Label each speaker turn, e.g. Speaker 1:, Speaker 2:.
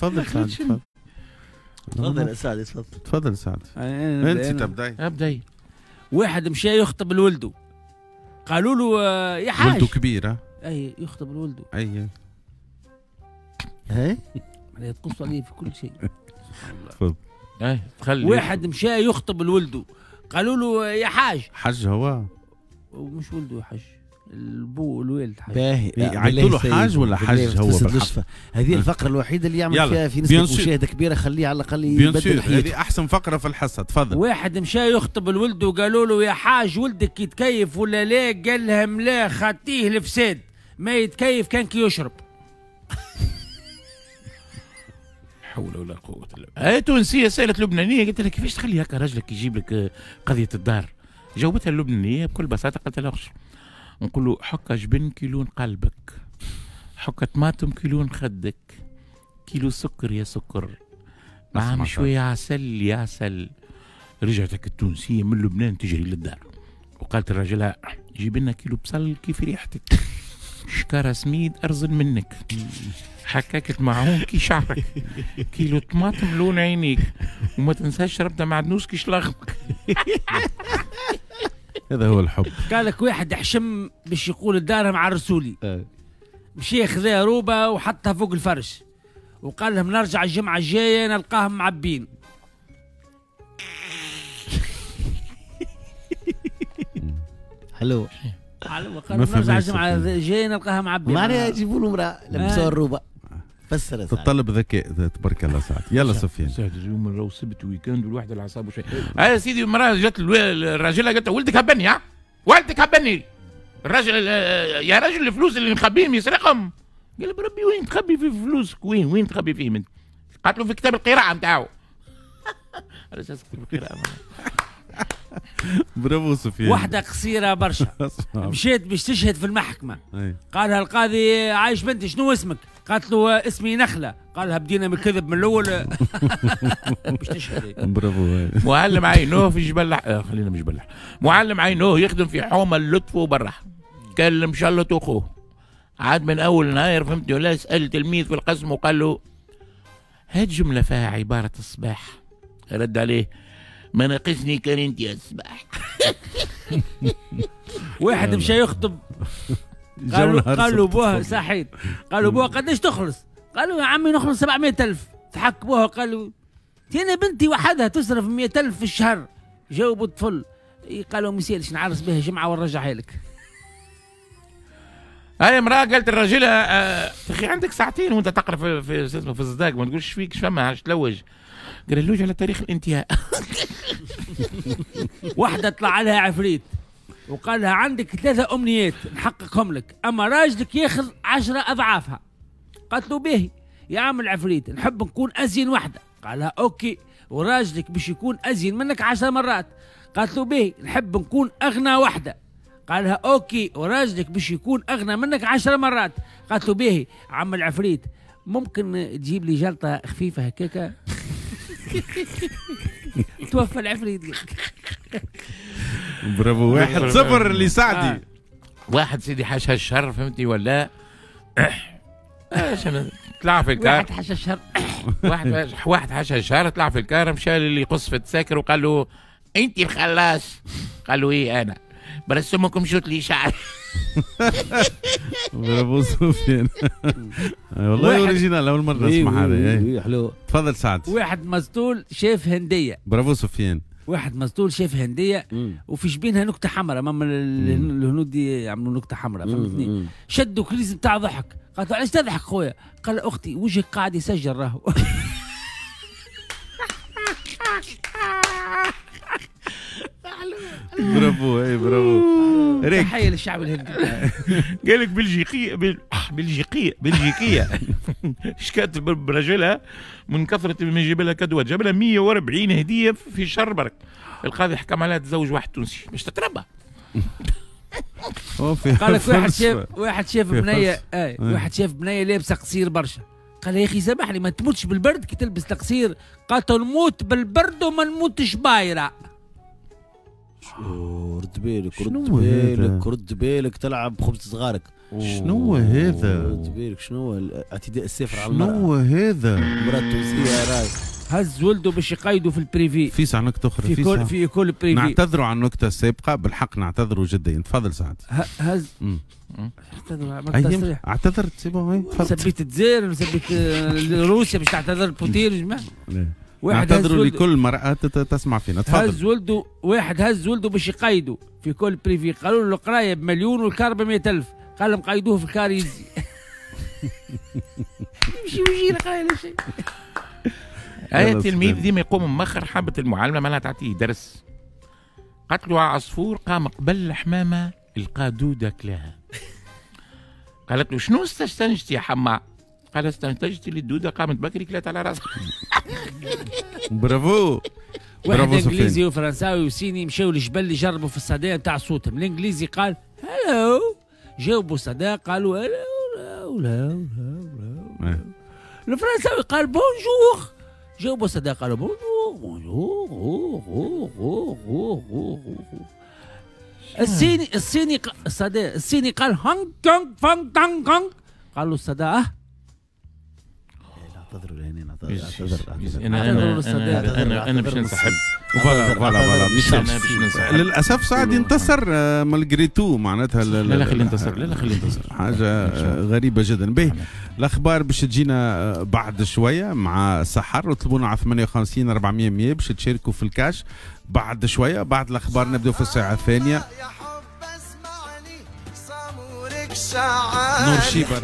Speaker 1: تفضل سعد، تفضل.
Speaker 2: تفضل سعد، تفضل.
Speaker 1: تفضل سعد. انت تبداي.
Speaker 3: ابداي.
Speaker 4: واحد مشى يخطب لولده، قالوا له يا حاج.
Speaker 1: ولده كبير.
Speaker 4: اي يخطب لولده.
Speaker 1: اي
Speaker 2: اي
Speaker 4: معناها تقص عليه في كل شيء.
Speaker 1: تفضل.
Speaker 3: اي خلي.
Speaker 4: واحد مشى يخطب لولده، قالوا له يا حاج.
Speaker 1: حج هو؟
Speaker 4: ومش ولده حج، البو الوالد حاج.
Speaker 2: باهي
Speaker 1: عيطوا له حاج ولا حج هو؟
Speaker 2: هذه الفقرة الوحيدة اللي يعمل فيها في نسبه مشاهده كبيرة، خليه على الاقل يبدل حياته.
Speaker 1: هذه احسن فقره في الحصة. تفضل.
Speaker 4: واحد مشى يخطب الولد وقالوا له يا حاج ولدك يتكيف ولا لا؟ قال لهم لا، خطيه الفساد، ما يتكيف كان كي يشرب.
Speaker 3: حول ولا قوة الا بالله. تونسية سالت لبنانية قالت لها كيفاش تخلي هكا راجلك يجيب لك قضية الدار؟ جاوبتها اللبنانية بكل بساطة، قالت لها نقول له حكة جبن كيلون قلبك، حكة طماطم كيلون خدك، كيلو سكر يا سكر، معهم شوية عسل يا عسل. رجعتك التونسية من لبنان تجري للدار وقالت لراجلها جيب لنا كيلو بصل كيف ريحتك، شكارة سميد أرزن منك، حكاكة معون كي شعرك، كيلو طماطم لون عينيك، وما تنساش ربطة معدنوس كي شلغمك.
Speaker 1: هذا هو الحب.
Speaker 4: قال لك واحد حشم باش يقول الدارهم عرسولي، مشي خذا روبه وحطها فوق الفرش وقال لهم نرجع الجمعة الجاية نلقاهم معبين.
Speaker 2: حلو
Speaker 4: حلو. قال نرجع الجمعة الجاية نلقاها معبين،
Speaker 2: معناها يجيبوا له امراة لبسوها الروبه. فسر
Speaker 1: تطلب ذكاء تبارك الله سعد. يلا سفيان.
Speaker 3: سعد اليوم راهو سبت week-end والواحد العصاب وشيء. يا سيدي المراة جات الراجل قالت ولدك هبني، ها ولدك هبني. الراجل يا راجل الفلوس اللي مخبيهم يسرقهم. قال بربي وين تخبي في فلوسك؟ وين تخبي فيهم انت؟ قالت له في كتاب القراءة نتاعو. على اساس كتاب القراءة.
Speaker 1: برافو سفيان.
Speaker 4: واحدة قصيرة برشا مشيت باش تشهد في المحكمة. قالها القاضي عايش بنتي شنو اسمك؟ قالت له اسمي نخلة. قالها بدينا من الكذب من الأول باش تشهد.
Speaker 1: برافو.
Speaker 3: معلم عينوه في جبل، خلينا مش جبل، معلم عينوه يخدم في حومة اللطف وبرح، كلم شلته وخوه. عاد من أول نهار فهمتني ولا، سأل تلميذ في القسم وقال له هات جملة فيها عبارة الصباح. رد عليه ما ناقصني كان انت يا الصباح.
Speaker 4: واحد مشى يخطب، قالوا بوه صحيت، قالوا بوه قداش تخلص؟ قالوا يا عمي نخلص 700,000. ضحك بوه قالوا انا بنتي وحدها تصرف 100,000 في الشهر. جاوبوا الطفل قالوا ما يسالش نعرس بها جمعه ونرجعها لك.
Speaker 3: هاي امرأة قالت الرجل اخي عندك ساعتين وانت تقرا في في الصداق ما تقولش فيك فما عادش تلوج. قال اللوج على تاريخ الانتهاء.
Speaker 4: واحدة طلع لها عفريت وقال لها عندك 3 أمنيات نحققهم لك، أما راجلك ياخذ 10 أضعافها. قالت له باهي يا عم العفريت نحب نكون أزين واحدة. قال لها OK، وراجلك باش يكون أزين منك 10 مرات. قالت له باهي نحب نكون أغنى واحدة. قالها OK، وراجلك باش يكون أغنى منك 10 مرات. قالت له باهي عم العفريت ممكن تجيب لي جلطة خفيفة هكاكا. توفى العفريت.
Speaker 1: برافو. 1-0 لسعدي.
Speaker 3: واحد سيدي حاشا الشر فهمتني ولا؟ طلع في الكار.
Speaker 4: واحد حاشا الشر.
Speaker 3: واحد حاشا الشر طلع في الكار، مشى اللي يقص في التساكر وقال له انت الخلاص. قال له ايه انا برسمكم شوت لي شعر.
Speaker 1: برافو سفيان. والله original، اول مرة نسمع هذا.
Speaker 2: حلو.
Speaker 1: تفضل سعد.
Speaker 4: واحد مسطول شاف هنديه.
Speaker 1: برافو سفيان.
Speaker 4: واحد مسطول شاف هنديه وفي جبينها نكتة حمراء، ماما الهنود يعملوا نكتة حمراء فهمتني. شدوا crise نتاع ضحك. قالت له علاش تضحك خويا؟ قال اختي وجهك قاعد يسجل راهو.
Speaker 1: برافو. اي برافو.
Speaker 4: تحية للشعب الهندي.
Speaker 3: قال لك بلجيكيه بلجيكيه شكات برجلها من كثرة ما يجيب لها cadeau ات، جاب لها 140 هديه في شهر برك. القاضي حكم عليها تزوج واحد تونسي باش تتربى.
Speaker 4: قال لك واحد شاف بنيه، واحد شاف بنيه لابسه قصير برشا. قال يا اخي سامحني ما تموتش بالبرد كي تلبس القصير؟ قالت نموت بالبرد وما نموتش بايره.
Speaker 2: رد بالك، رد بالك، رد بالك تلعب بخبز صغارك.
Speaker 1: شنو هذا؟
Speaker 2: رد بالك، شنو اعتداء السافر على المرأة؟
Speaker 1: شنو هذا؟
Speaker 2: المرأة التونسية راي
Speaker 4: هز ولده باش يقيدوا في ال privé.
Speaker 1: في ساعة نكتة أخرى،
Speaker 4: في école privée.
Speaker 1: نعتذروا عن النكتة السابقة، بالحق نعتذروا جدا. تفضل سعد.
Speaker 4: هز
Speaker 1: اعتذر، اعتذرت c'est bon.
Speaker 4: سبيت الجزائر وسبيت روسيا باش تعتذر بوتين يا جماعة.
Speaker 1: واحد نعتذروا لكل مرأة تسمع فينا. تفضل.
Speaker 4: هز ولده، واحد هز ولده باش يقيدوا في école privée، قالوا له القراية بمليون والكار ب 100,000، قال لهم قيدوه في الكار يزي. يمشي ويجي القراية لا شيء.
Speaker 3: أي التلميذ ديما يقوم مخر حبة المعلمة معناها تعطيه درس. قالت له عصفور قام قبل الحمامة لقى دودة كلاها. قالت له شنو استنتجت يا حما؟ قال استنتجت اللي الدودة قامت بكري كلات على راسها.
Speaker 1: برافو.
Speaker 4: واحد انجليزي وفرنساوي وصيني مشاو للجبل يجربوا في الصدى نتاع صوتهم. الانجليزي قال hello، جاوبوا الصدى قالوا hello لا لا. الفرنساوي قال bonjour، جاوبوا الصدى قالوا bonjour bonjour. الصيني الصيني الصدى الصيني قال هونغ كونغ فونغ تانغ كونغ، قالوا الصدى اه.
Speaker 2: نعتذروا لهنا، نعتذر.
Speaker 3: انا انا باش ننسحب.
Speaker 1: voilà voilà voilà. للاسف سعد انتصر malgré tout معناتها.
Speaker 3: لا لا خلي ينتصر، لا لا خلي ينتصر.
Speaker 1: حاجة غريبة جدا. به الاخبار باش تجينا بعد شوية مع سحر، وطلبونا على 58 400 100 باش تشاركوا في الكاش بعد شوية. بعد الاخبار نبداو في الساعة الثانية. نور شيبة.